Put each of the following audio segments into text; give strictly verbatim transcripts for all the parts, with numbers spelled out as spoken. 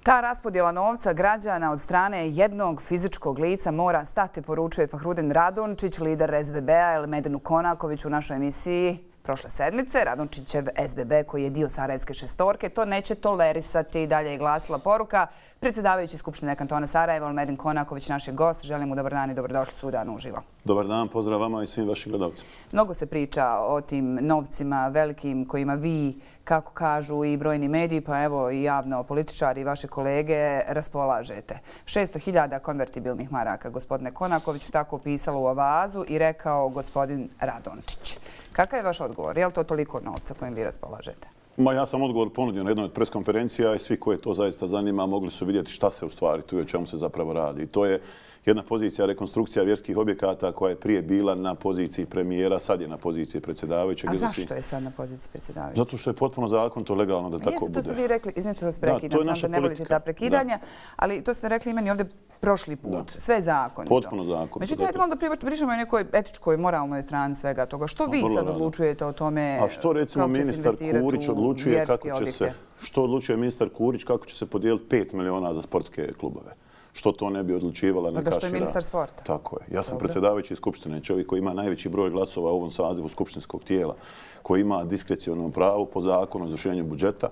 Ta raspodjela novca građana od strane jednog fizičkog lica mora stati, poručuje Fahrudin Radončić, lider S B B-a, ili Medenu Konaković u našoj emisiji prošle sedmice. Radončićev S B B, koji je dio Sarajevske šestorke, to neće tolerisati. Dalje je glasila poruka. Predsjedavajući Skupštine kantona Sarajeva, Meden Konaković, naš je gost. Želim mu dobar dan i dobrodošlicu u Dan uživo. Dobar dan, pozdrav vama i svim vašim gledalcima. Mnogo se priča o tim novcima velikim kojima vi, kako kažu i brojni mediji, pa evo i javno političari i vaše kolege, raspolažete. šesto hiljada konvertibilnih maraka, gospodine Konakoviću, tako opisalo u Avazu i rekao gospodin Radončić. Kakav je vaš odgovor? Je li to toliko novca kojim vi raspolažete? Ma, ja sam odgovor ponudio na jednoj od preskonferencija i svi koje to zaista zanima mogli su vidjeti šta se u stvari tu i o čemu se zapravo radi. I to je jedna pozicija rekonstrukcija vjerskih objekata koja je prije bila na poziciji premijera, sad je na poziciji predsjedavajućeg. A zašto je sad na poziciji predsjedavajućeg? Zato što je potpuno zakonito legalno da tako bude. Jeste, to ste vi rekli, izniče vas prekidam, znam da ne volite ta prekidanja, ali to ste rekli i meni ovdje prošli put. Sve je zakonito. Potpuno zakonito. Međutim, ajde malo da pričamo o nekoj etičkoj, moralnoj strani svega toga. Što vi sad odlučujete o tome kako će se investirati u vjerske objekte? A što recimo ministar Kurić odlučuje kako će se, što odlučuje ministar Kurić kako će se podijeliti pet miliona za sportske klubove? Što to ne bi odlučivala neka šira? Da što je ministar sporta. Tako je. Ja sam predsjedavajući Skupštine, čovjek koji ima najveći broj glasova u ovom sazivu skupštinskog tijela, koji ima diskreciono pravo po zakonu o izvršenju budžeta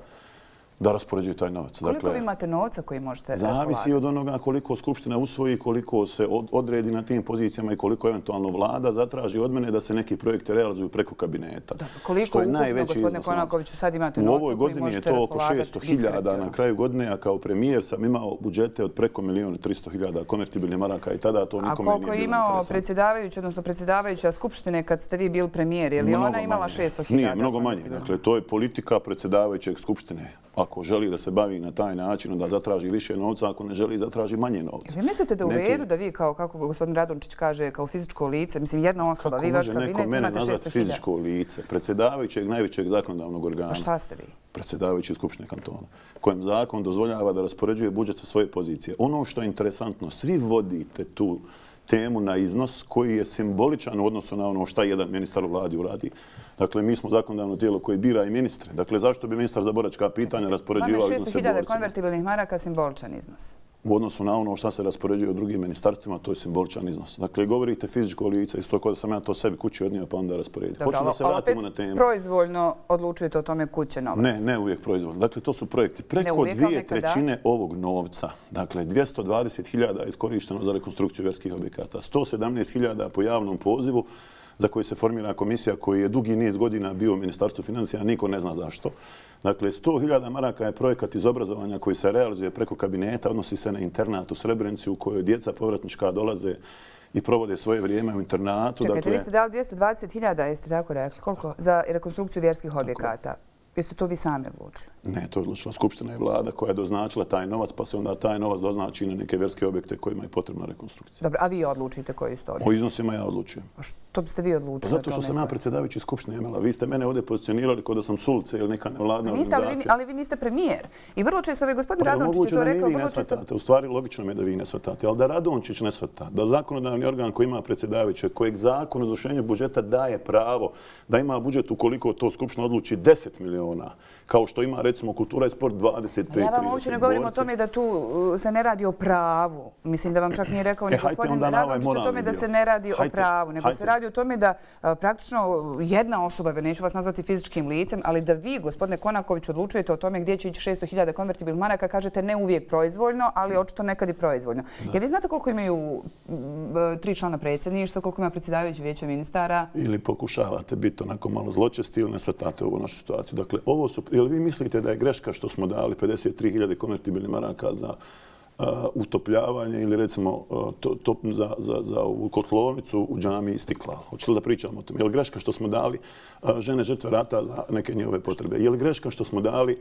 da raspoređuje taj novac. Koliko vi imate novca koji možete raspolagati? Zavisi od onoga koliko Skupština usvoji, koliko se odredi na tim pozicijama i koliko eventualno vlada zatraži od mene da se neki projekte realizuju preko kabineta. Koliko ukupno, gospodine Konakoviću, sad imate novca koji možete raspolagati? U ovoj godini je to oko šesto hiljada na kraju godine, a kao premijer sam imao budžete od preko milijun i tristo hiljada konvertibilnih maraka i tada to nikome nije bilo interesantno. A koliko je imao predsjedavajući, odnosno predsjedavajuća Skupštine kad ste vi bili premijer? Je li ona imala šesto hiljada? Nije, mnogo manje. Dakle, to je politika predsjedavajućeg Skupštine. Ako želi da se bavi na taj način, da zatraži više novca, ako ne želi, zatraži manje novca. Vi mislite da u redu da vi, kao kako gospodin Radončić kaže, kao fizičko lice, mislim jedna osoba, vi vaš kabinet imate šesto hiljada? Kako može neko mene nazvati fizičko lice? Predsjedavajućeg najvećeg zakonodavnog organa. A šta ste vi? Predsjedavajući Skupštine kantona, kojem zakon dozvoljava da raspoređuje budžet sa svoje pozicije. Ono što je interesantno, svi vodite tu temu na iznos koji je simboličan u odnosu na ono šta jedan ministar u vladi uradi. Dakle, mi smo zakonodavno tijelo koje bira i ministre. Dakle, zašto bi ministar za boračka pitanja raspoređivao iznose borcima? šesto hiljada konvertibilnih maraka simboličan iznos. U odnosu na ono šta se raspoređuje u drugim ministarstvima, to je simboličan iznos. Dakle, govorite fizičko lice, isto kao da sam ja to sebi kući odnio pa onda rasporedio. Hoću da se vratimo na temu. Proizvoljno odlučujete o tome kuće novac? Ne, ne uvijek proizvoljno. Dakle, to su projekti. Preko dvije trećine ovog novca, dakle, dvjesto dvadeset hiljada je iskorišteno za rekonstrukciju vjerskih objekata, sto sedamnaest hiljada po javnom pozivu, za koji se formira komisija koji je dugi niz godina bio u Ministarstvu financija, niko ne zna zašto. Dakle, sto hiljada maraka je projekat iz obrazovanja koji se realizuje preko kabineta, odnosi se na internat u Srebrenici u kojoj djeca povratnička dolaze i provode svoje vrijeme u internatu. Čekajte, vi ste dali dvjesto dvadeset hiljada, jeste tako rekli? Koliko? Za rekonstrukciju vjerskih objekata. Jeste to vi sami odlučili? Ne, to je odlučila Skupština i vlada koja je doznačila taj novac, pa se onda taj novac doznači na neke vjerske objekte kojima je potrebna rekonstrukcija. Dobro, a vi odlučite koji su to objekti? O iznosima ja odlučujem. A što biste vi odlučili? Zato što sam ja predsjedavajući Skupštine imala. Vi ste mene ovdje pozicionirali kao da sam s ulice ili neka nevladna organizacija. Ali vi niste premijer. I vrlo često, ovaj gospodin Radončić je to rekao, vrlo često... U stvari, logično mi je da vi ne shvatate. Ali da Radončić ne shvata, da zakonodavni organ koji ima predsjedavajućeg, kojeg zakon o izvršenju budžeta daje pravo da ima budžet ukoliko to Skupština odluči deset miliona, kao što ima, recimo, kultura i sport dvadeset pet. Ja vam uopće ne govorim o tome da tu se ne radi o pravu. Mislim da vam čak nije rekao ni gospodin Radončić o tome da se ne radi o pravu, nego se radi o tome da praktično jedna osoba, neću vas nazvati fizičkim licem, ali da vi, gospodine Konaković, odlučujete o tome gdje će ići šesto hiljada konvertibilnih maraka, kažete ne uvijek proizvoljno, ali očito nekad i proizvoljno. Jer vi znate koliko imaju tri člana predsjedništva, koliko ima predsjedavajući vijeće ministara? Ili pokušavate biti onako malo zločesti ili ne shvatate ovu našu situaciju. Dakle, ovo su... Jel vi mislite da je greška što smo dali pedeset tri hiljade konvertibilnih maraka za utopljavanje ili recimo za ovu kotlovnicu u džamiji Istiklal? Hoćete li da pričamo o tome? Je li greška što smo dali žene žrtve rata za neke njihove potrebe? Je li greška što smo dali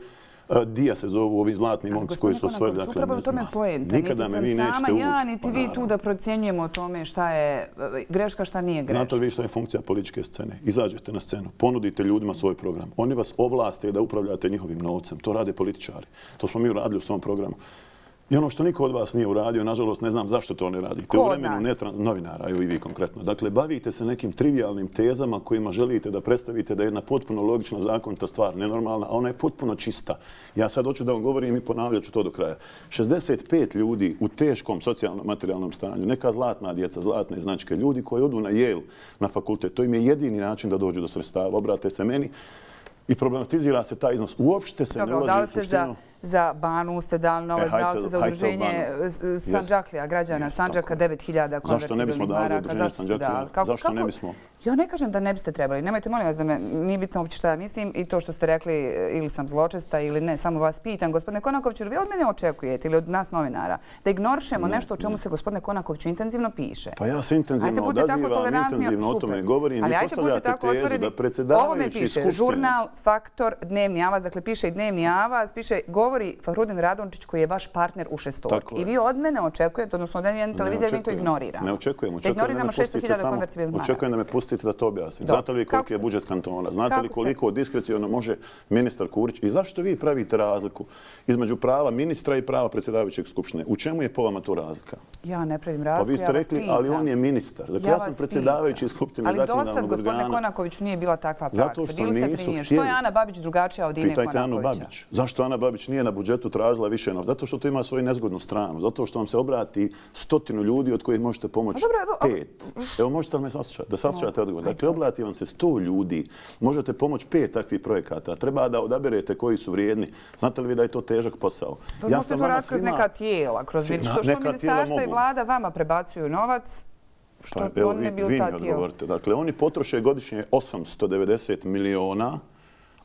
Dija se zovu ovi zlatni momci koji su osvojili. Dakle, upravo u tome poenta. Nikada me vi nećete ući. Ja, niti vi tu da procjenjujemo o tome šta je greška, šta nije greška. Znate vi šta je funkcija političke scene? Izađete na scenu, ponudite ljudima svoj program. Oni vas ovlaste da upravljate njihovim novcem. To rade političari. To smo mi uradili u svom programu. I ono što niko od vas nije uradio, nažalost, ne znam zašto to ne radite. Ko od nas? Novinara, evo i vi konkretno. Dakle, bavite se nekim trivialnim tezama kojima želite da predstavite da je jedna potpuno logična, zakonita stvar, nenormalna, a ona je potpuno čista. Ja sad hoću da vam govorim i ponavljat ću to do kraja. šezdeset pet ljudi u teškom socijalnom materijalnom stanju, neka zlatna djeca, zlatne značke, ljudi koji odu na Yale, na fakultet, to im je jedini način da dođu do sredstava. Obrate se meni i problematizira se taj iznos. Uopšte se ne ulazi u suštinu. Za Banu ste dali novac, dali ste za udruženje Sandžaklija, građana Sandžaka, devet hiljada konvertibilnih maraka. Zašto ne bismo dali za udruženje Sandžaklija? Zašto ne bismo? Ja ne kažem da ne biste trebali. Nemojte, molim vas, da me nije bitno uopće šta ja mislim i to što ste rekli ili sam zločesta ili ne. Samo vas pitam, gospodine Konakoviću, vi od mene očekujete ili od nas novinara da ignorišemo nešto o čemu se gospodine Konakoviću intenzivno piše? Pa ja se intenzivno odazivam, intenzivno o tome govorim. Vi postavljate tezu da predsjedavajući skupštine... Žurnal, Faktor, Dnevni avaz, dakle piše i Dnevni avaz, piše govori Fahrudin Radončić koji je vaš partner u šestorki. I vi od mene očekujete, odnosno od jedne televizije, mi to ignoriramo. Ne očekujem. Da ignoriramo šesto hiljada konvertibilnih maraka. Očekujem da me pustite da to objasnim. Znate li koliki je budžet kantona? Znate li koliko diskreciono može ministar Kurić? I zašto vi pravite razliku između prava ministra i prava predsjedavajućeg skupštine? U čemu je po vama to razlika? Ja ne pravim razliku, ja vas pitam. Pa vi ste rekli, ali on je ministar. Dakle, ja sam predsjedavajući skupštine zakonodavnog organa. Ali dosad, gospodine Konakoviću, nije bila takva praksa. Zato što nisu htjeli. Što je Ana Babić drugačija od Ine Konakovića? Zašto Ana Babić nije na budžetu tražila više novca? Zato što to ima svoju nezgodnu stranu. Zato što vam se obrati stotinu ljudi od kojih možete pomoći pet. Evo, možete li me saslušati? Da saslušate odgovor. Dakle, obrati vam se sto ljudi. Možete pomoći pet takvih projekata. Treba da odaberete koji su vrijedni. Znate li vi da je to težak posao? Ja sam to rad kroz neka tijela. Kroz što ministarstva i vlada vama prebacuju novac? Što on ne bil ta tijela? Dakle, oni potroše godišnje osamsto devedeset miliona.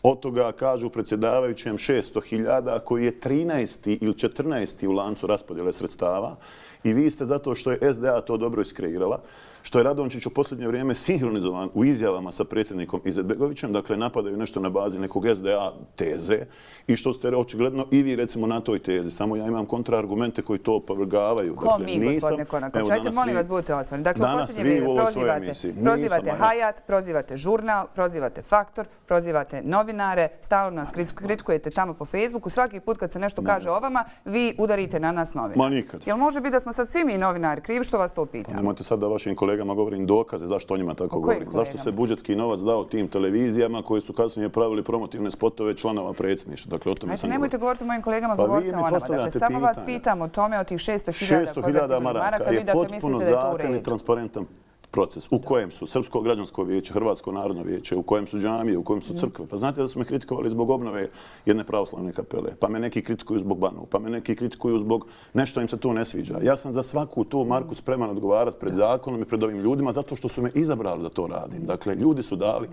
Od toga kažu predsjedavajućem šesto hiljada koji je trinaesti ili četrnaesti u lancu raspodjele sredstava i vi ste zato što je S D A to dobro iskreirala, što je Radončić u posljednje vrijeme sinhronizovan u izjavama sa predsjednikom Izetbegovićem, dakle napadaju nešto na bazi nekog S D A teze i što ste očigledno i vi recimo na toj tezi. Samo ja imam kontraargumente koji to opovrgavaju. Ko mi, gospodine Konaković? Ajte, molim vas, budite otvoreni. Dakle, u posljednje vrijeme prozivate, prozivate Hayat, prozivate žurnal, prozivate Faktor, prozivate novinare, stalno nas kritikujete tamo po Facebooku. Svaki put kad se nešto kaže o vama, vi udarite na nas novinare. Ma nikad. Jel može biti da smo sad svi mi novinari krivi što vas to pitamo? Nemojte sad da vašim kolegama govorim dokaze zašto o njima tako govorim. Zašto se budžetski novac dao tim televizijama koji su kasnije pravili promotivne spotove članova predsjedništva. Dakle, o tome sam govorio. Nemojte govoriti o mojim kolegama, govorite o nama. Dakle, samo vas pitam o tome, o tih šesto hiljada maraka. Je potpuno zakonit i transparentan proces u kojem su Srpsko građansko vijeće, Hrvatsko narodno vijeće, u kojem su džamije, u kojem su crkve. Pa znate da su me kritikovali zbog obnove jedne pravoslavne kapele, pa me neki kritikuju zbog Banu, pa me neki kritikuju zbog nešto im se tu ne sviđa. Ja sam za svaku tu marku spreman odgovarati pred zakonom i pred ovim ljudima zato što su me izabrali da to radim. Dakle, ljudi su dali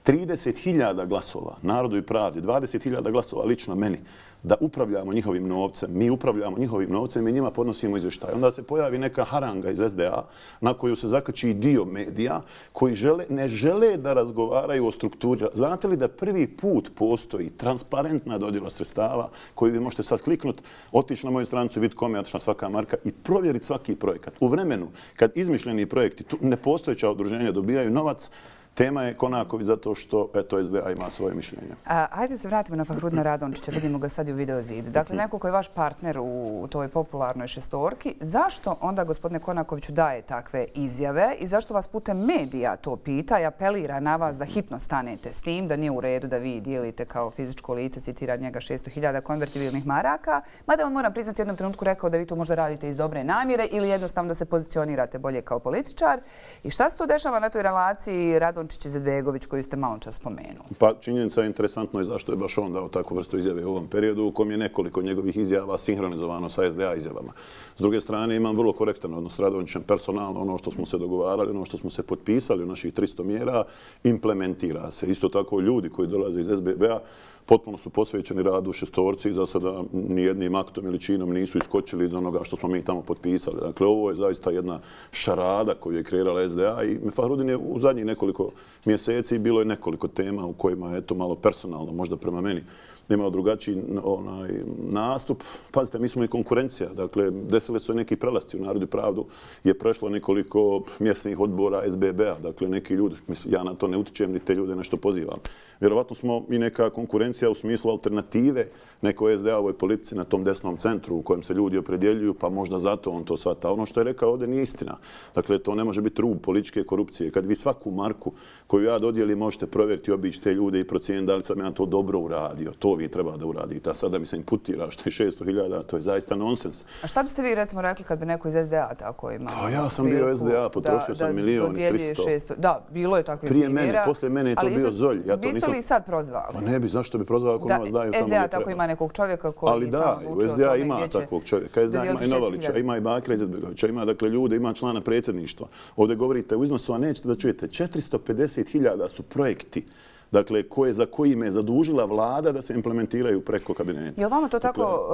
trideset hiljada glasova Narodu i pravdi, dvadeset hiljada glasova lično meni, da upravljamo njihovim novcem. Mi upravljamo njihovim novcem i mi njima podnosimo izvještaj. Onda se pojavi neka haranga iz S D A na koju se zakači dio medija koji žele, ne žele da razgovaraju o strukturi. Znate li da prvi put postoji transparentna dodjela sredstava koju vi možete sad kliknuti, otići na moju stranicu, vidjeti kome je otišla svaka marka i provjeriti svaki projekat. U vremenu kad izmišljeni projekti, nepostojeća udruženja dobijaju novac, tema je Konaković zato što eto, S D A ima svoje mišljenje. Hajde se vratimo na Fahrudina Radončića, vidimo ga sad i u videozidu. Dakle, neko koji je vaš partner u toj popularnoj šestorki, zašto onda gospodine Konakoviću daje takve izjave i zašto vas putem medija to pita i apelira na vas da hitno stanete s tim, da nije u redu da vi dijelite kao fizičko lice, citira njega šesto hiljada konvertibilnih maraka, mada on, moram priznati, u jednom trenutku rekao da vi to možda radite iz dobre namjere ili jednostavno da se pozicionirate bolje kao političar. I šta se to dešava na toj relaciji Radončić Izetbegović koju ste malo čas spomenuli? Pa činjenica je interesantno i zašto je baš on dao takvu vrstu izjave u ovom periodu u kom je nekoliko njegovih izjava sinhronizovano sa S D A izjavama. S druge strane, imam vrlo korektan odnos s Radončićem personalno. Ono što smo se dogovarali, ono što smo se potpisali u naših tristo mjera, implementira se. Isto tako ljudi koji dolaze iz S B B-a potpuno su posvećeni radu u šestorci i za sada nijednim aktom ili činom nisu iskočili iz onoga što smo mi tamo potpisali. Dakle, ovo je zaista jedna šarada koju je kreirala S D A i Fahrudin je u zadnjih nekoliko mjeseci bilo je nekoliko tema u kojima je to malo personalno, možda prema meni, imao drugačiji onaj, nastup. Pazite, mi smo i konkurencija. Dakle, desili su neki prelasci u Narodu i pravdu. Je prešlo nekoliko mjesnih odbora S B B-a. Dakle, neki ljudi, mislim, ja na to ne utičem, ni te ljude nešto pozivam. Vjerovatno smo i neka konkurencija konkurencija u smislu alternative nekoj S D A-ovoj politici na tom desnom centru u kojem se ljudi opredjeljuju, pa možda zato on to shvata. Ono što je rekao ovdje nije istina. Dakle, to ne može biti rub političke korupcije. Kad vi svaku marku koju ja dodijelim možete provjeriti, obići te ljude i procijeniti da li sam ja to dobro uradio. To vi treba da uradite. A sada mi se imputira što je šesto hiljada, to je zaista nonsens. A šta biste vi recimo rekli kad bi neko iz S D A tako imao? Pa ja sam bio S D A, potrošio sam milijon i tristo. Da, bilo je takvih primjera. Prije mene, posle mene je to bio Zolj. Biste li sad prozvali? Pa ne bi, zašto bi prozvali ako novac daju tamo gdje treba? S D A tako ima nekog čovjeka koji ali da, u S D A ima takvog čovjeka. S D A ima i Novalića, ima i Bakira Izetbegovića, ima dakle ljude, ima člana predsjedništva. Ovdje govorite u iznosu, a nećete da čujete, četiristo pedeset hiljada su projekti dakle, koje, za koji me je zadužila vlada da se implementiraju preko kabineta. Je li vama to tako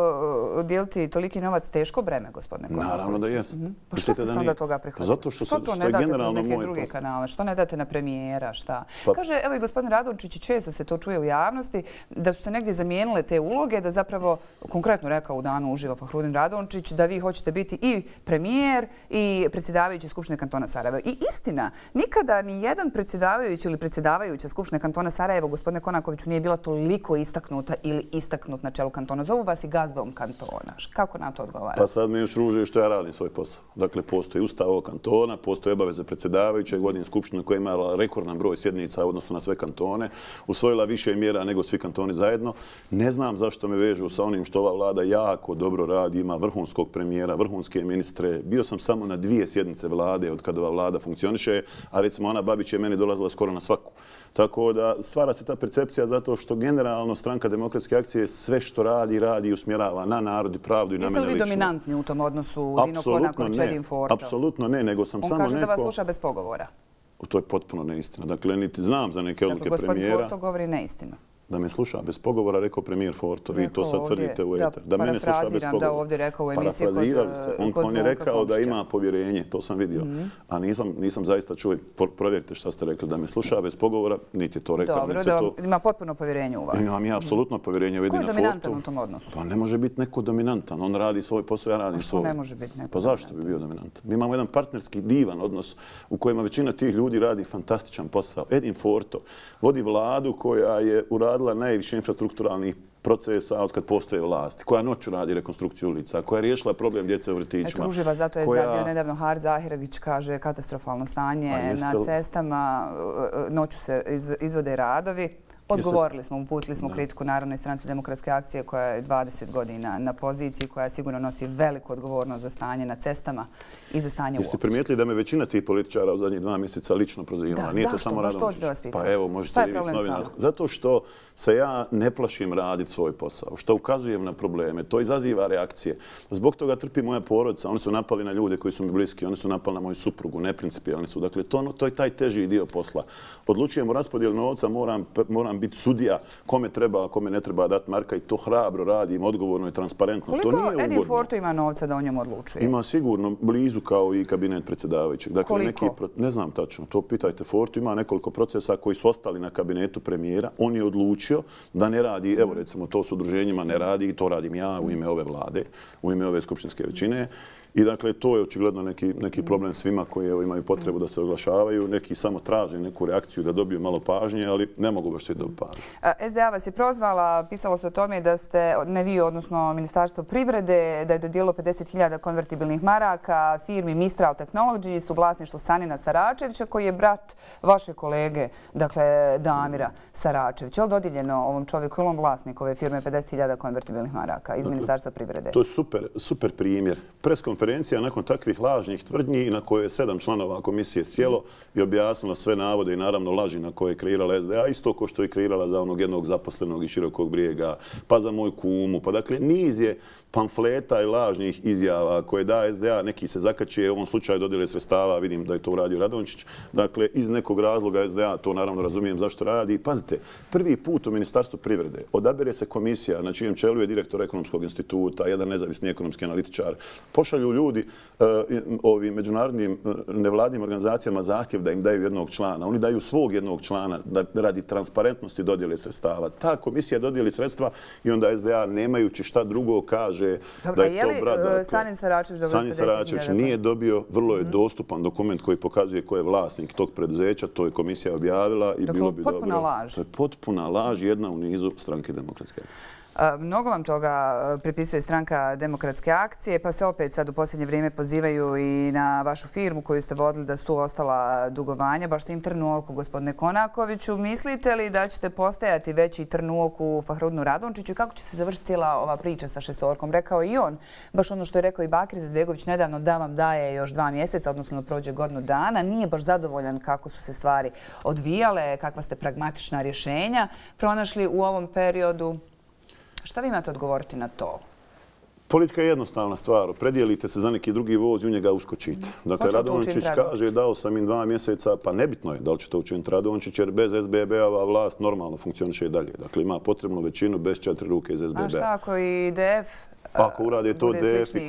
dakle, dijeliti toliki novac teško breme, gospodine Konaković? Naravno da jest. Mm-hmm. Pa što ste se onda toga prihvatili? Zato što, što to što ne date kroz neke druge posao. kanale? Što ne date na premijera? Šta? Pa, Kaže, evo i gospodin Radončić, često se to čuje u javnosti, da su se negdje zamijenile te uloge, da zapravo, konkretno rekao u danu uživo Fahrudin Radončić, da vi hoćete biti i premijer i predsjedavajući Skupštine kantona Sarajeva. I istina, nikada ni jedan predsjedavajući ili predsjedavajuća Skupštine kantona Sarajeva, gospodine Konakoviću, nije bila toliko istaknuta ili istaknut na čelu kantona. Zovu vas i gazdom kantona. Kako na to odgovara? Pa sad mi još ruže što ja radim svoj posao. Dakle, postoji ustav ovog kantona, postoji obaveze predsjedavajuće, godin skupština koja je imala rekordan broj sjednica u odnosu na sve kantone, usvojila više mjera nego svi kantoni zajedno. Ne znam zašto me vežu sa onim što ova vlada jako dobro radi, ima vrhunskog premijera, vrhunske ministre. Bio sam samo na dvije sjednice vlade od kada ova vlada funkcioniše, a recimo Ana Babić je meni dolazila skoro na svaku. Tako da stvara se ta percepcija zato što generalno Stranka demokratske akcije sve što radi, radi i usmjerava na narod i pravdu i na mene lično. Jeste li vi dominantni u tom odnosu Dino Konaković, Edin Forto? Apsolutno ne, nego sam On samo neko... On kaže da vas sluša bez pogovora. To je potpuno neistina. Dakle, niti znam za neke odluke premijera. Dakle, gospodin Forto govori neistinu. Da me sluša bez pogovora, rekao premijer Forto. Vi to sad tvrdite u eter. Da mene sluša bez pogovora. Da ovdje rekao u emisiji kod On, on je rekao da ima povjerenje, to sam vidio. A nisam, nisam zaista čuo, provjerite šta ste rekli, da me sluša bez pogovora, niti je to rekao. Dobro, da ima potpuno povjerenje u vas. Imam ja apsolutno povjerenje u Edina Fortu. Ko je dominantan u tom odnosu? Pa ne može biti neko dominantan. On radi svoj posao, ja radim svoj. Što ne može biti neko? Pa zašto bi bio dominantan? Mi imamo jedan partnerski divan odnos u kojima većina tih ljudi radi fantastičan posao. Edin Forto vodi vladu koja je uradila najviše infrastrukturalnih procesa od kad postoje vlasti, koja noću radi rekonstrukciju ulica, koja je riješila problem djece u vrtićima. Eto, uživa, zato je koja... bio nedavno Har Zahirević, kaže katastrofalno stanje na cestama, noću se izvode radovi. Odgovorili smo, uputili smo kritiku Narodnoj stranci demokratske akcije koja je dvadeset godina na poziciji, koja sigurno nosi veliku odgovornost za stanje na cestama i za stanje uopće. Jeste primijetili da me većina tih političara u zadnjih dva mjeseca lično prozivala? Da, zašto? Baš to ću da vas pitam. Pa evo, možete li vi s novinarskog. Zato što se ja ne plašim raditi svoj posao, što ukazujem na probleme, to izaziva reakcije. Zbog toga trpi moja porodica, oni su napali na ljude koji su mi bliski, oni su napali na moju suprugu, neprincipijalni su. Dakle, to, to je taj teži dio posla. Odlučujem o raspodijelu novca, moram, moram biti sudija kome treba, a kome ne treba dati marka i to hrabro radim, odgovorno i transparentno. Koliko to nije ugodno. Edin Forto ima novca da o njemu odlučuje? Ima sigurno blizu kao i kabinet predsjedavajućeg. Dakle, Koliko? Neki, ne znam tačno, to pitajte Forto. Ima nekoliko procesa koji su ostali na kabinetu premijera. On je odlučio da ne radi, evo recimo to s udruženjima ne radi i to radim ja u ime ove vlade, u ime ove skupštinske većine. I dakle, to je očigledno neki, neki problem svima koji evo, imaju potrebu da se oglašavaju. Neki samo traže neku reakciju da dobiju malo pažnje, ali ne mogu baš svi dobiti pažnje. S D A vas je prozvala, pisalo se o tome da ste, ne vi, odnosno Ministarstvo privrede, da je dodijelilo pedeset hiljada konvertibilnih maraka firmi Mistral Technologies u vlasništvu Sanina Saračevića, koji je brat vaše kolege, dakle Damira Saračevića. Je li dodijeljeno ovom čovjeku, je li on vlasnik ove firme pedeset hiljada konvertibilnih maraka iz dakle, Ministarstva privrede? To je super, super primjer. Preskonferencija nakon takvih lažnih tvrdnji na koje je sedam članova komisije sjelo i objasnilo sve navode i naravno laži na koje je kreirala S D A, isto ko što je kreirala za onog jednog zaposlenog iz Širokog Brijega, pa za moju kumu. Pa dakle, niz je pamfleta i lažnih izjava koje da S D A, neki se zakačije, u ovom slučaju dodjele sredstava, vidim da je to uradio Radončić. Dakle, iz nekog razloga S D A, to naravno razumijem zašto radi. Pazite, prvi put u Ministarstvu privrede odabere se komisija na čijem čelu je direktor Ekonomskog instituta, jedan nezavisni ekonomski analitičar, pošalju pošalju ljudi ovim međunarodnim nevladnim organizacijama zahtjev da im daju jednog člana. Oni daju svog jednog člana radi transparentnosti dodjele sredstava. Ta komisija dodijeli sredstva i onda S D A nemajući šta drugo kaže da je to brat. Dobro, je li Sanin Saračević dobio Sanin Saračević nije dobio, vrlo je dostupan dokument koji pokazuje ko je vlasnik tog preduzeća, to je komisija objavila i bilo bi dobro. Potpuna laž. To je potpuna laž, jedna u nizu Stranke demokratske akcije. Mnogo vam toga pripisuje Stranka demokratske akcije, pa se opet sad u posljednje vrijeme pozivaju i na vašu firmu koju ste vodili da su tu ostala dugovanja. Baš ste im trn u oku, gospodine Konakoviću. Mislite li da ćete postajati veći trn u oku Fahrudinu Radončiću i kako će se završiti cijela ova priča sa šestorkom? Rekao i on, baš ono što je rekao i Bakir Izetbegović nedavno, da vam daje još dva mjeseca, odnosno da prođe godinu dana. Nije baš zadovoljan kako su se stvari odvijale, kakva ste pragmatična rješenja pronašli u ovom periodu. Šta vi imate odgovoriti na to? Politika je jednostavna stvar. Predijelite se za neki drugi voz i u njega uskočite. Dakle, Radončić kaže dao sam im dva mjeseca, pa nebitno je da li će to učiniti Radončić, jer bez S B B-ova vlast normalno funkcioniše i dalje. Dakle, ima potrebnu većinu bez četiri ruke iz S B B-a. A šta ako i D F? Ako urade to D F i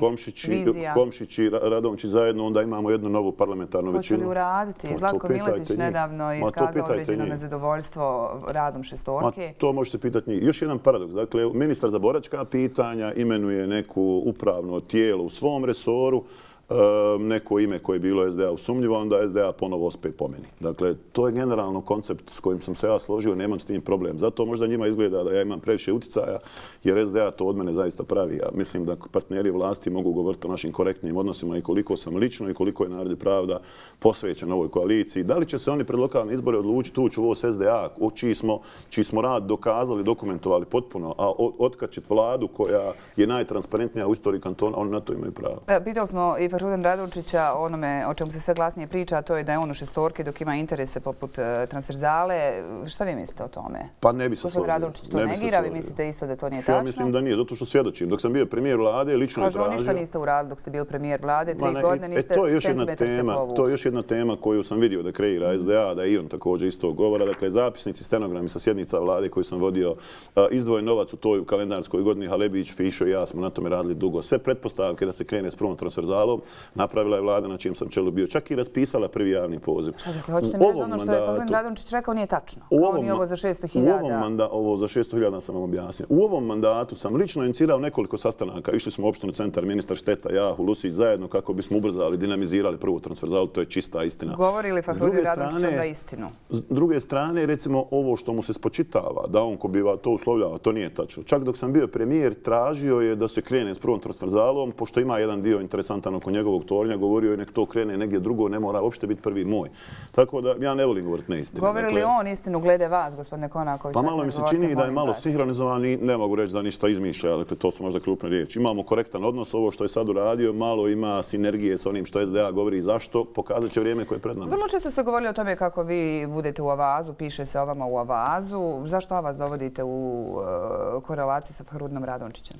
Komšić i Radončić zajedno, onda imamo jednu novu parlamentarnu većinu. Hoće li uraditi? Zlatko Miletić nedavno iskazao određeno nezadovoljstvo radom šestorke. To možete pitati njih. Još jedan paradoks. Dakle, ministar za boračka pitanja imenuje neku upravno tijelo u svom resoru, neko ime koje je bilo S D A-u sumnjivo, onda S D A ponovo ospe po meni. Dakle, to je generalno koncept s kojim sam se ja složio, nemam s tim problem. Zato možda njima izgleda da ja imam previše uticaja, jer S D A to od mene zaista pravi. Ja mislim da partneri vlasti mogu govoriti o našim korektnim odnosima i koliko sam lično i koliko je Narod i pravda posvećen ovoj koaliciji. Da li će se oni pred lokalne izbore odlučiti ući u ovo S D A, čiji smo, čiji smo rad dokazali, dokumentovali potpuno, a otkačiti vladu koja je najtransparentnija u istoriji kantona, oni na to imaju pravo. Pitali smo i Fahrudina Radončića onome o čemu se sve glasnije priča, a to je da je on u šestorki dok ima interese poput transverzale. Šta vi mislite o tome? Pa ne bi se složio. Radončić to negira, vi mislite isto da to nije tačno? Ja mislim da nije, zato što svjedočim. Dok sam bio premijer vlade, lično je tražio... Kažu, ništa niste uradili dok ste bili premijer vlade, tri godine niste centimetar se povukli. To je još jedna tema koju sam vidio da kreira S D A, da i on također isto govora. Dakle, zapisnici, stenogrami sa sjednica vlade koju sam vodio, izdvojen novac u toj kalendarskoj godini, Halebić, Fišo i ja smo na tome radili dugo. Sve pretpostavke da se krene s prvom transverzalom napravila je vlada na čijem sam čelu bio. Čak i raspisala prvi javni poziv. Šta dakle, hoćete mi reći ono što je Fahrudin Radončić rekao nije tačno? Kao ni ovo za šesto hiljada? Ovo za šesto hiljada sam vam objasnio. U ovom mandatu sam lično inicirao nekoliko sastanaka. Išli smo u opštinu centar, ministar Šteta, ja, Hulusić zajedno kako bismo ubrzali, dinamizirali prvu transverzalu. To je čista istina. Govori li Fahrudin Radončić da istinu? S druge strane, recimo ovo što mu se spočitava, da on ko bi to uslovljava, to nije tačno. Čak dok sam bio premijer, tražio je da se krene s prvom transverzalom, pošto ima jedan dio interesantan oko njegovog tornja, govorio je nek to krene negdje drugo, ne mora uopšte biti prvi moj. Tako da ja ne volim govoriti neistinu. Govori li on istinu glede vas, gospodine Konaković? Pa malo mi se čini da je malo sinhronizovan i ne mogu reći da ništa izmišlja, dakle to su možda krupne riječi. Imamo korektan odnos, ovo što je sad uradio, malo ima sinergije s onim što S D A govori i zašto, pokazat će vrijeme koje je pred nama. Vrlo često ste govorili o tome kako vi budete u Avazu, piše se o vama u Avazu. Zašto Avaz dovodite u korelaciju sa Fahrudinom Radončićem?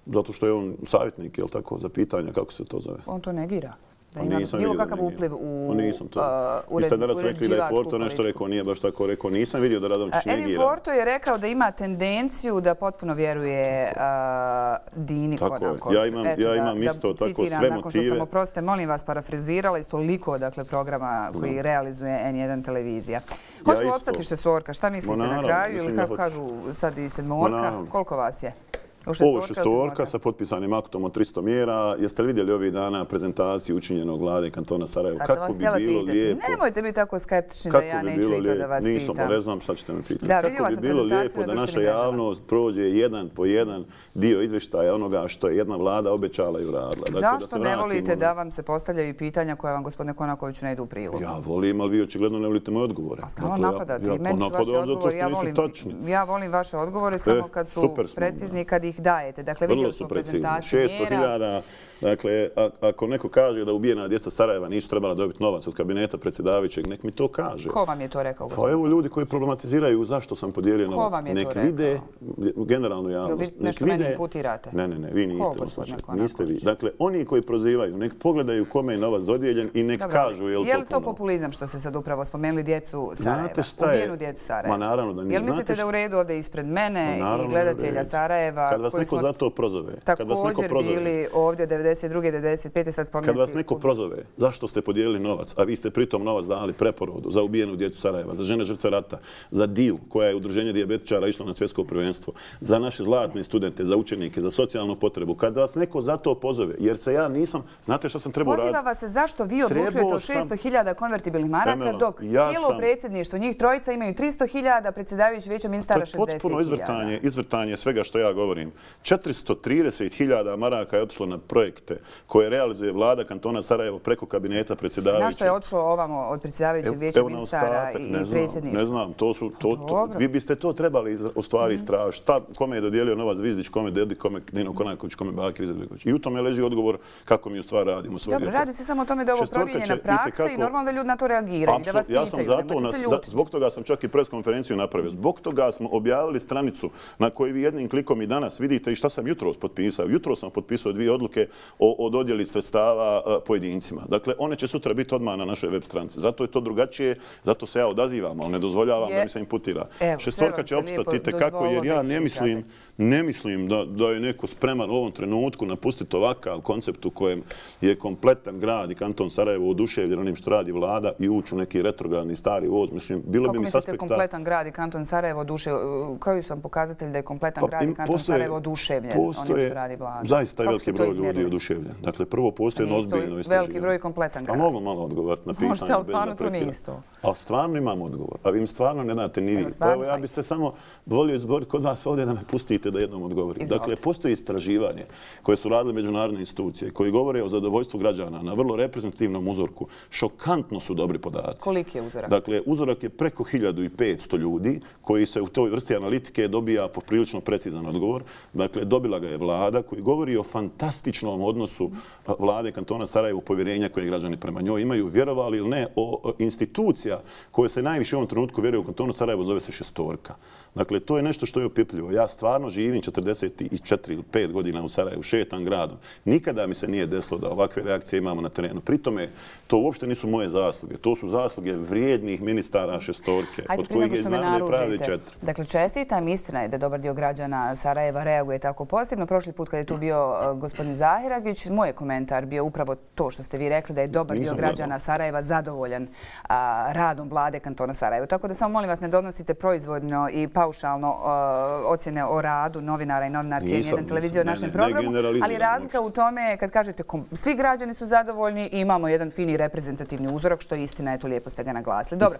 Zato što je on savjetnik, je li tako, za pitanja, kako se to zove? On to negira. Da ima bilo kakav upliv u uređivačku politiku. Vi ste danas rekli da je Forto nešto rekao, nije baš tako rekao. Nisam vidio da Radončić negira. Edin Forto je rekao da ima tendenciju da potpuno vjeruje Dini Konakoviću. Ja imam isto tako sve motive. Nakon što sam, oprostite, molim vas, parafrazirala iz toliko programa koji realizuje N jedan televizija. Hoće li opstati šestorka? Šta mislite na kraju? Ili kako kažu sad i sedmorka? Koliko vas je? Ovo je šestorka sa potpisanim aktom od tristo mjera. Jeste li vidjeli ovih dana prezentaciju učinjenog vlade kantona Sarajevo? Kako bi bilo lijepo... Nemojte biti tako skeptični da ja neću i to da vas pitam. Nisam, ne znam šta ćete me pitati. Kako bi bilo lijepo da naša javnost prođe jedan po jedan dio izvještaja onoga što je jedna vlada obećala i uradila. Zašto ne volite da vam se postavljaju pitanja koje vam, gospodine Konakoviću, ne idu u prilog? Ja volim, ali vi očigledno ne volite moje odgovore. Stalno napadate. Meni su vaše odgovori. Ja volim vaše odgovore samo kad su precizni, kad ih dajete. Dakle, vidjeli smo prezentaciju mjera. šesto hiljada. Dakle, ako neko kaže da ubijena djeca Sarajeva nisu trebala dobiti novac od kabineta predsjedavajućeg, nek mi to kaže. Ko vam je to rekao? Pa evo ljudi koji problematiziraju zašto sam podijelio novac. Ko vam je to rekao? Nek vide, generalno javnost. Vi nešto meni imputirate? Ne, ne, ne, vi niste. Niste vi. Dakle, oni koji prozivaju, nek pogledaju kome je novac dodijeljen i nek kažu je li to puno. Je li to populizam što ste sad upravo spomenuli djecu Sarajeva? Ubijenu djecu Sarajeva. Ma naravno da nije. Jel mislite da u redu ovdje ispred mene i gledatelja Sarajeva Kad vas neko za to prozove, također bili ovdje devedeset druge devedeset pete sad spomenuti. Kad vas neko prozove, zašto ste podijelili novac, a vi ste pritom novac dali preporodu za ubijenu djecu Sarajeva, za žene žrtve rata, za D I U, koja je udruženje dijabetičara išla na svjetsko prvenstvo, za naše zlatne studente, za učenike, za socijalnu potrebu. Kad vas neko za to pozove, jer se ja nisam, znate što sam trebao raditi? Poziva vas se zašto vi odlučujete o šesto hiljada konvertibilnih maraka, dok cijelo predsjedništvo, njih trojica imaju tristo hiljada, predsjedavajući vijeća ministara šezdeset hiljada. To je potpuno izvrtanje svega što ja govorim. četiristo trideset hiljada maraka je otišlo na projekte koje realizuje vlada kantona Sarajevo preko kabineta predsjedavajućeg. Na što je otišlo ovamo od predsjedavajućeg vijeća ministara i predsjedništva? Ne znam, to su... Vi biste to trebali u stvari istražiti. Kome je dodijelio novac Zvizdić, kome Dedi, kome Dino Konaković, kome Bakir Izetbegović. I u tome leži odgovor kako mi u stvari radimo. Dobro, radi se samo o tome da je ovo promijenjena praksa i normalno da ljudi na to reagiraju. Ja sam zato, zbog toga sam čak i preskonferenciju napravio. Zbog toga smo objavili stranicu na kojoj vi jednim klikom i danas vidite i šta sam jutros potpisao. Jutros sam potpisao dvije odluke o dodjeli sredstava pojedincima. Dakle, one će sutra biti odmah na našoj web stranici. Zato je to drugačije, zato se ja odazivam, ali ne dozvoljavam da mi se imputira. Šestorka će opstati itekako jer ja ne mislim, ne mislim da, da je neko spreman u ovom trenutku napustiti ovakav koncept u kojem je kompletan grad i kanton Sarajevo oduševljen onim što radi vlada i ući u neki retrogradni stari voz. Mislim, bilo kako bi mi mislite aspekta... kompletan grad i kanton Sarajevo oduševljen? Koji su vam pokazatelji da je kompletan pa, grad i kanton postoje, Sarajevo oduševljen onim što radi vlada? Zaista je veliki broj ljudi oduševljen. Dakle, prvo postoje jedno ozbiljno istraživanje. Veliki broj kompletan grad. Pa mogu malo odgovoriti na pitanje. Možete, ali stvarno to nije isto. Ali stvarno imam odgovor. A vi im stvarno ne date ni vi. Evo, ja bi se samo volio izboriti kod vas ovdje da me pustite da jednom odgovorim. Dakle, postoji istraživanje koje su radile međunarodne institucije koji govore o zadovoljstvu građana na vrlo reprezentativnom uzorku. Šokantno su dobri podaci. Koliki je uzorak? Dakle, uzorak je preko hiljadu petsto ljudi koji se u toj vrsti analitike dobija poprilično precizan odgovor. Dakle, dobila ga je vlada koji govori o fantastičnom odnosu vlade kantona Sarajevo, povjerenja koje građani prema njoj imaju, vjerovali ili ne, o institucija koje se najviše u ovom trenutku vjeruje u kantonu Sarajevo zove se šestorka. Dakle, to je nešto što je opipljivo. Ja stvarno živim četrdeset četiri ili pet godina u Sarajevu, šetam gradom. Nikada mi se nije desilo da ovakve reakcije imamo na terenu. Pritome, to uopšte nisu moje zasluge. To su zasluge vrijednih ministara šestorke, od kojih je iz Narodne pravde četiri. Dakle, čestitam, istina je da dobar dio građana Sarajeva reaguje tako pozitivno. Prošli put kad je tu bio gospodin Zahiragić, moj komentar bio upravo to što ste vi rekli, da je dobar dio građana Sarajeva zadovoljan radom vlade kantona Sarajevo. Tako da samo molim vas ne donosite proizvodno i paušalno ocjene o radu novinara i novinarke N jedan televizije o našem programu, ali razlika u tome kad kažete svi građani su zadovoljni i imamo jedan fini reprezentativni uzorak, što je istina, eto lijepo ste ga naglasili. Dobro,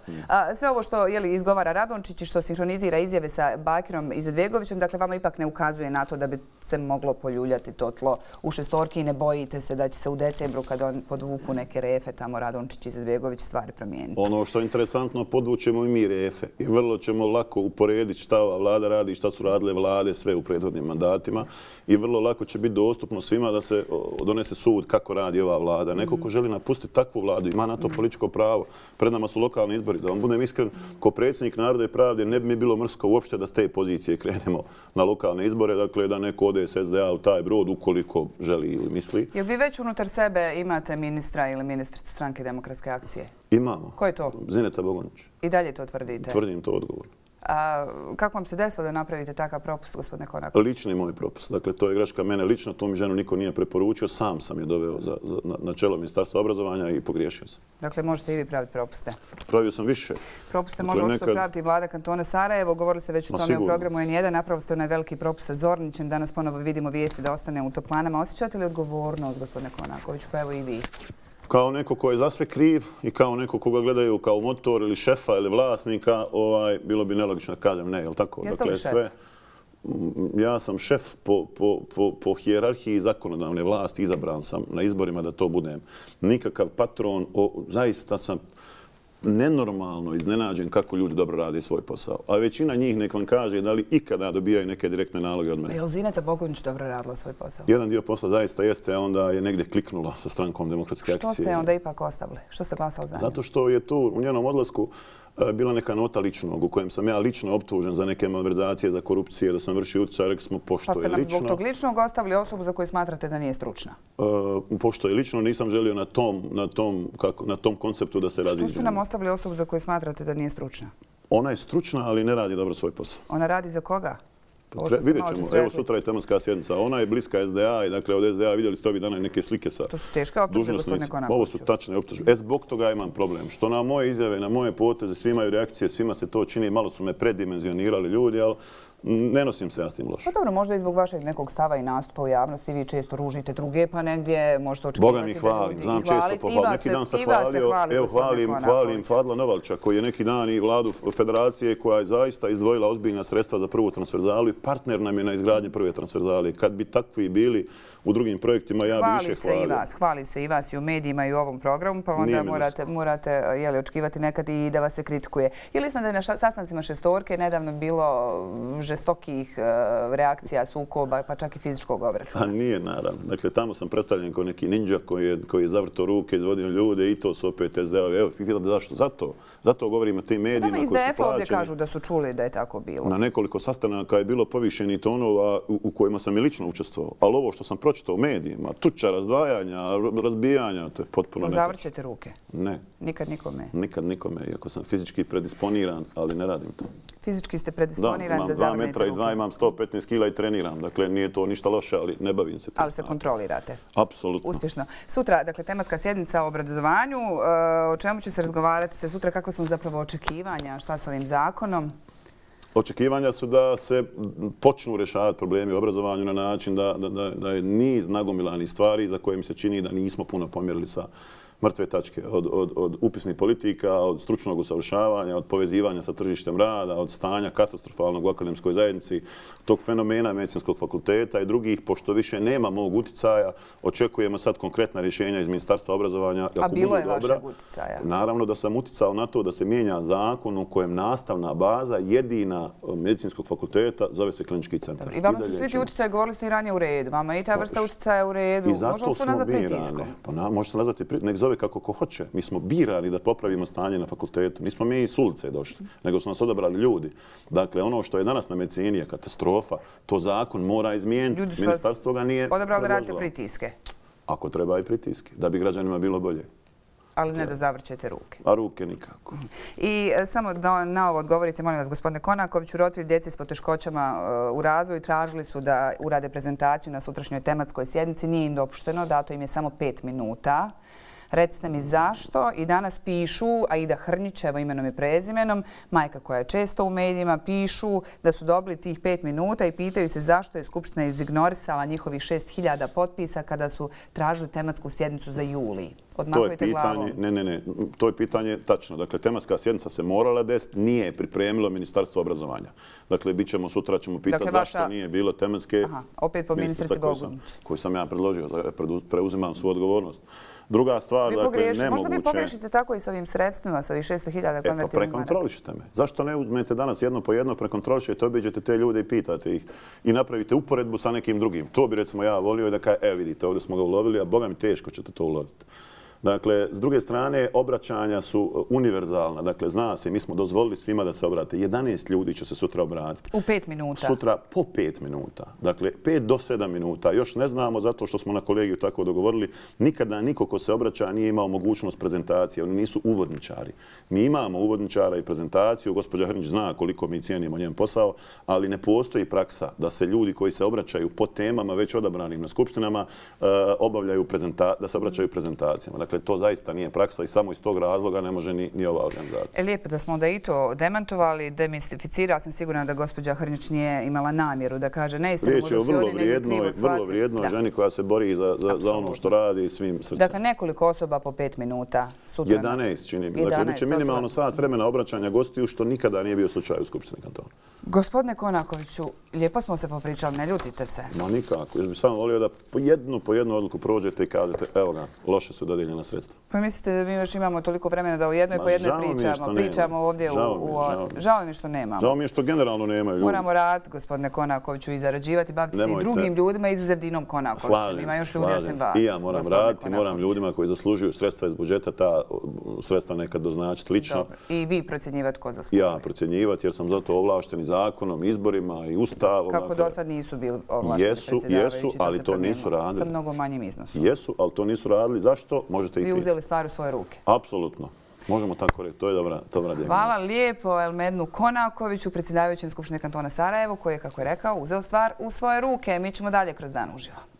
sve ovo što izgovara Radončić i što sinhronizira izjave sa Bakirom Izetbegovićem, dakle vama ipak ne ukazuje na to da bi se moglo poljuljati to tlo u šestorki i ne bojite se da će se u decembru kad on podvuku neke refe tamo Radončić i Izetbegović stvari promijeniti. Ono što je interesantno, podvučemo i mi refe i vrlo ćemo lako uporediti šta ova vlada radi i šta su radile vlade sve u prethodnim mandatima i vrlo lako će biti dostupno svima da se donese sud kako radi ova vlada. Neko ko želi napustiti takvu vladu ima na to političko pravo. Pred nama su lokalni izbori. Da vam budem iskren, ko predsjednik Narodne pravde ne bi mi bilo mrsko uopšte da s te pozicije krenemo na lokalne izbore. Dakle, da neko ode s S D A u taj brod ukoliko želi ili misli. Jel vi već unutar sebe imate ministra ili ministricu Stranke demokratske akcije? Imamo. Ko je to? Zineta Bogonić. I dalje to tvrdite? Tvrdim to odgovorno. A kako vam se desilo da napravite takav propust, gospodine Konaković? Lični moj propust. Dakle, to je greška mene lično, tu mi ženu niko nije preporučio, sam sam je doveo za, za, na, na čelo Ministarstva obrazovanja i pogriješio sam. Dakle, možete i vi praviti propuste? Pravio sam više. Propuste dakle, može očito nekad... praviti i vlada kantona Sarajevo. Govorili ste već o tome sigurno. U programu N jedan. Napravili ste onaj veliki propust sa Zornićem. Danas ponovo vidimo vijesti da ostane u toplanama. Osjećate li odgovornost, gospodine Konaković, pa evo i vi? Kao neko ko je za sve kriv i kao neko koga gledaju kao motor ili šefa ili vlasnika, ovaj, bilo bi nelogično da kažem ne, je li tako? Jeste li šef? Sve, ja sam šef po, po, po, po hijerarhiji zakonodavne vlasti, izabran sam na izborima da to budem. Nikakav patron, o, zaista sam nenormalno iznenađen kako ljudi dobro rade svoj posao. A većina njih nek vam kaže da li ikada dobijaju neke direktne naloge od mene. Je li Zineta Bogonić dobro radila svoj posao? Jedan dio posla zaista jeste, a onda je negdje kliknula sa Strankom demokratske akcije. Što ste onda ipak ostavili? Što ste glasali za nju? Zato što je tu u njenom odlasku bila neka nota ličnog u kojem sam ja lično optužen za neke malverzacije, za korupcije, da sam vršio utjecaj, rekli smo pošto je lično. Pa ste nam zbog tog ličnog ostavili osobu za koju smatrate da nije stručna? Uh, pošto je lično, nisam želio na tom, na tom, kako, na tom konceptu da se raziđemo. Što ste nam ostavili osobu za koju smatrate da nije stručna? Ona je stručna, ali ne radi dobro svoj posao. Ona radi za koga? Vidjet ćemo. Evo sutra je tematska sjednica. Ona je bliska es de a i dakle od es de a vidjeli ste ovih dana neke slike sa dužnosnicima. To su teške optužbe, gospodine Konakoviću. Ovo su tačne optužbe. E, zbog toga imam problem. Što na moje izjave, na moje poteze, svi imaju reakcije, svima se to čini, malo su me predimenzionirali ljudi, ali ne nosim se ja s tim loše. Pa dobro, možda i zbog vašeg nekog stava i nastupa u javnosti, vi često ružite druge, pa negdje možete očekivati da ljudi i hvalim. Znam često pohvalim. Neki dan sam hvalio, evo hvalim, hvalim Fadla Novalča, koji je neki dan i vladu federacije koja je zaista izdvojila ozbiljna sredstva za prvu transverzalu i partner nam je na izgradnji prve transverzale. Kad bi takvi bili u drugim projektima, ja bi više hvalio. Hvali se i vas, hvali se i vas i u medijima i u ovom programu, pa onda morate, morate jeli, očekivati nekad i da vas se kritikuje. Ili sam da je na sastancima šestorke nedavno bilo žestokih reakcija, sukoba, pa čak i fizičkog obračuna. Pa nije, naravno. Dakle, tamo sam predstavljen kao neki ninja koji je, koji je zavrto ruke, izvodio ljude i to su opet es de a. Evo, pitate zašto? Zato. Zato govorim o tim medijima koji su plaćeni. Iz de efa ovdje kažu da su čuli da je tako bilo. Na nekoliko sastanaka je bilo povišeni tonova u, u kojima sam i lično učestvovao. Ali ovo što sam pročitao u medijima, tuča, razdvajanja, razbijanja, to je potpuno netočno. Zavrćete ruke? Ne. Nikad nikome? Nikad nikome, iako sam fizički predisponiran, ali ne radim to. Fizički ste predisponiran da zavrnete ruke? Da, imam dva metra i dva, imam sto petnaest kila i treniram. Dakle, nije to ništa loše, ali ne bavim se. Ali se kontrolirate? Apsolutno. Uspješno. Sutra, dakle, tematska sjednica o obrazovanju. O čemu će se razgovarati se sutra? Kako su zapravo očekivanja? Šta s ovim zakonom? Očekivanja su da se počnu rješavati problemi u obrazovanju na način da, da, da, da je niz nagomilanih stvari za koje mi se čini da nismo puno pomjerili sa mrtve tačke, od, od, od upisnih politika, od stručnog usavršavanja, od povezivanja sa tržištem rada, od stanja katastrofalnog u akademskoj zajednici, tog fenomena medicinskog fakulteta i drugih, pošto više nema mog uticaja, očekujemo sad konkretna rješenja iz Ministarstva obrazovanja. A bilo je vašeg uticaja? Naravno da sam uticao na to da se mijenja zakon u kojem nastavna baza jedina medicinskog fakulteta zove se klinički centar. Dobro. I vama su svi ti uticaji, govorili ste i ranije u redu. Vama i ta vrsta uticaja u redu. I zato smo birani. Pa na, možete nazvati, nek zove kako ko hoće. Mi smo birali da popravimo stanje na fakultetu. Nismo mi iz ulice došli, nego su nas odabrali ljudi. Dakle, ono što je danas na medicini je katastrofa, to zakon mora izmijeniti. Ministarstvo ga nije odabrali da radite pritiske? Ako treba i pritiske, da bi građanima bilo bolje. Ali ne da zavrćete ruke. A ruke nikako. I samo da na ovo odgovorite, molim vas, gospodine Konakoviću, roditelji djece s poteškoćama u razvoju tražili su da urade prezentaciju na sutrašnjoj tematskoj sjednici. Nije im dopušteno, dato im je samo pet minuta. Recite mi zašto i danas pišu, Aida Hrnić, evo imenom i prezimenom, majka koja je često u medijima, pišu da su dobili tih pet minuta i pitaju se zašto je Skupština izignorisala njihovih šest hiljada potpisa kada su tražili tematsku sjednicu za juli. Odmahujte glavom. Ne, ne, ne. To je pitanje tačno. Dakle, tematska sjednica se morala desiti, nije pripremilo Ministarstvo obrazovanja. Dakle, bit ćemo sutra, ćemo pitati dakle, zašto vaša... nije bilo tematske... Aha, opet po ministrici Bogunić. Koju sam ja predložio, preuzimam svu odgovornost. Druga stvar, dakle, nemoguće... Možda vi pogrešite tako i s ovim sredstvima, s ovih šesto hiljada konvertibilnih maraka. E, pa prekontrolišite me. Zašto ne uzmete danas jedno po jedno, prekontrolišete, obiđete te ljude i pitate ih i napravite uporedbu sa nekim drugim. To bi, recimo, ja volio da kaže, evo vidite, ovdje smo ga ulovili, a boga mi teško ćete to uloviti. Dakle, s druge strane, obraćanja su univerzalna. Dakle, zna se, mi smo dozvolili svima da se obrate. jedanaest ljudi će se sutra obratiti. U pet minuta? Sutra po pet minuta. Dakle, pet do sedam minuta. Još ne znamo, zato što smo na kolegiju tako dogovorili, nikada niko ko se obraća nije imao mogućnost prezentacije. Oni nisu uvodničari. Mi imamo uvodničara i prezentaciju. Gospođa Hrnić zna koliko mi cijenimo njen posao, ali ne postoji praksa da se ljudi koji se obraćaju po temama već odabranim na skupštinama obavljaju prezenta, da se obraćaju prezentacijama. Dakle, to zaista nije praksa i samo iz tog razloga ne može ni, ni ova organizacija. E, lijepo da smo onda i to demantovali, demistificirao sam sigurna da gospođa Hrnić nije imala namjeru da kaže neistinu. Riječ je o vrlo vrijednoj, vrlo vrijednoj ženi koja se bori za, za, za ono što radi svim srcem. Dakle, nekoliko osoba po pet minuta sutra. jedanaest čini mi. Dakle, bit će minimalno sat vremena obraćanja gostiju, što nikada nije bio slučaj u Skupštini kantona. Gospodine Konakoviću, lijepo smo se popričali, ne ljutite se. Ma nikako. Još bih samo volio da po jednu, po jednu odluku prođete i kažete, evo ga, loše su dodijeljena sredstva. Pa mislite da mi još imamo toliko vremena da u jednoj po jednoj pričamo, pričamo ovdje u... Žao mi je što nemamo. Žao mi je što generalno nemaju ljudi. Moramo raditi, gospodine Konakoviću, i zarađivati, baviti se i drugim ljudima, izuzev Dinom Konakovićem. Ima još ljudi osim vas. I ja moram raditi, moram ljudima koji zaslužuju sredstva iz budžeta, ta sredstva nekad doznačiti lično. I vi procjenjivati ko zaslužuje? Ja procjenjivati jer sam zato ovlašten i zakonom, izborima i ustavom. Kako do sad nisu bili ovlašteni predsjedavajući? Jesu, ali to nisu radili. Sa mnogo manjim iznosom. Jesu, ali to nisu radili. Zašto? Možete i vi uzeli stvar u svoje ruke? Apsolutno. Možemo tako reći, to je dobra dijagnoza. Hvala lijepo Elmednu Konakoviću, predsjedavajućem Skupštine kantona Sarajevo, koji je, kako je rekao, uzeo stvar u svoje ruke. Mi ćemo dalje kroz dan uživo.